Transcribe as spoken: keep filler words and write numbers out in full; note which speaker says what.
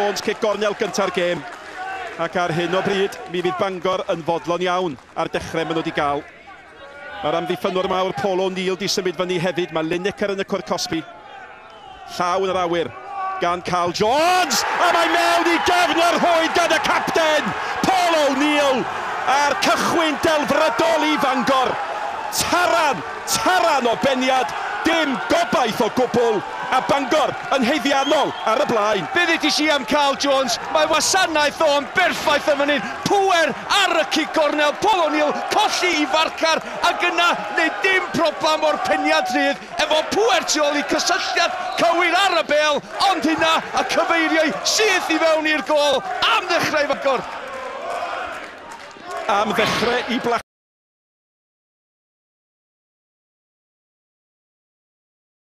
Speaker 1: Jones, cic gornel gynta'r gêm. Ac ar hyn o bryd, mi fydd Bangor yn fodlon iawn ar dechrau maen nhw wedi gael. Mae'r amddiffynwr mawr Paul O'Neill di symud fyny hefyd. Mae Lineker yn y cwrt cosbi. Llaw yn yr awyr gan Carl Jones! A mae mewn i gefn yr rhwyd gan y capten, Paul O'Neill! A'r cychwyn delfrydol i Fangor. Taran, taran o beniad, dim gobaith o gwbl, a Bangor yn haeddiannol ar y blaen.
Speaker 2: Be ddudis i am Carl Jones? Mae wasanaeth o'n berffaith yn fan hyn. Pŵer ar y cic gornel, Paul O'Neill colli i farcar ac yna neu dim problem o'r peniad rhydd efo pŵer tu ôl i cysylltiad cywir ar y bêl, ond hynna a cyfeiriau syth i fewn i'r gôl am ddechrau Bangor.
Speaker 1: Am ddechrau i Black.